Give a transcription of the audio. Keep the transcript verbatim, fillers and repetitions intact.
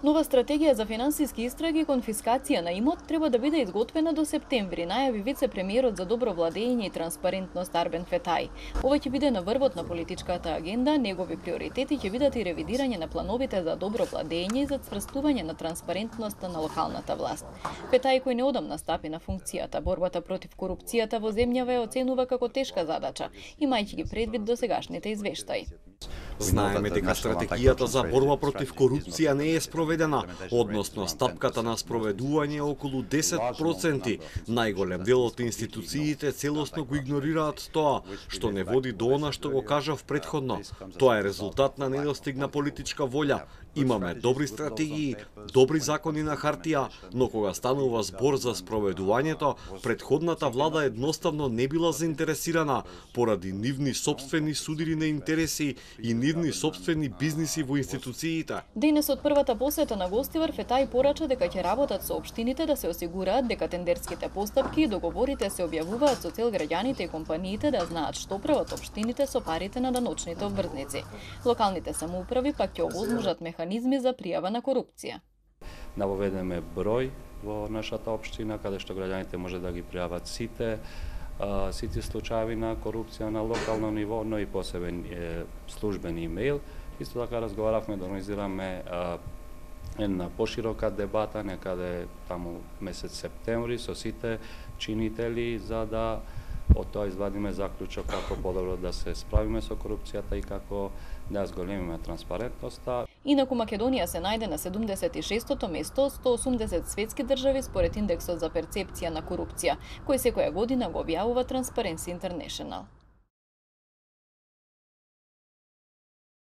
Нова стратегија за финансиски истраги и конфискација на имот треба да биде изготвена до септември, најави вице-премиерот за добро владење и транспарентност Арбен Фетај. Ова ќе биде на врвот на политичката агенда, негови приоритети ќе бидат и ревидирање на плановите за добро владење и за цврстување на транспарентноста на локалната власт. Фетај, кој неодамна стапи на функцијата, борбата против корупцијата во земјава ја оценува како тешка задача, имајќи ги предвид досегашните извештаи. Знаеме дека стратегијата за борба против корупција не е спроведена, односно стапката на спроведување е околу десет проценти. Најголем дел од институциите целосно го игнорираат тоа, што не води до она што го кажав претходно. Тоа е резултат на недостиг на политичка волја. Имаме добри стратегии, добри закони на хартија, но кога станува збор за спроведувањето, претходната влада едноставно не била заинтересирана поради нивни сопствени судири на интереси и нивни сопствени бизниси во институциите. Денес од првата посета на гостивар Фетај порача дека ќе работат со општините да се осигураат дека тендерските постапки и договорите се објавуваат со цел граѓаните и компаниите да знаат што прават општините со парите на даночните обврзници. Локалните самоуправи пак ќе овозможат механизми за пријава на корупција. Навоведеме број во нашата општина каде што граѓаните може да ги пријават сите сите случаи на корупција на локално ниво, но и посебен е, службен имејл. Исто така разговаравме да организираме а, една поширока дебата некаде таму месец септември со сите чинители за да од тоа извадиме заклучок како подобро да се справиме со корупцијата и како да зголемиме транспарентноста. Инаку Македонија се најде на седумдесет и шестото место, сто осумдесет светски држави според индексот за перцепција на корупција, кој секоја година го објавува Transparency International.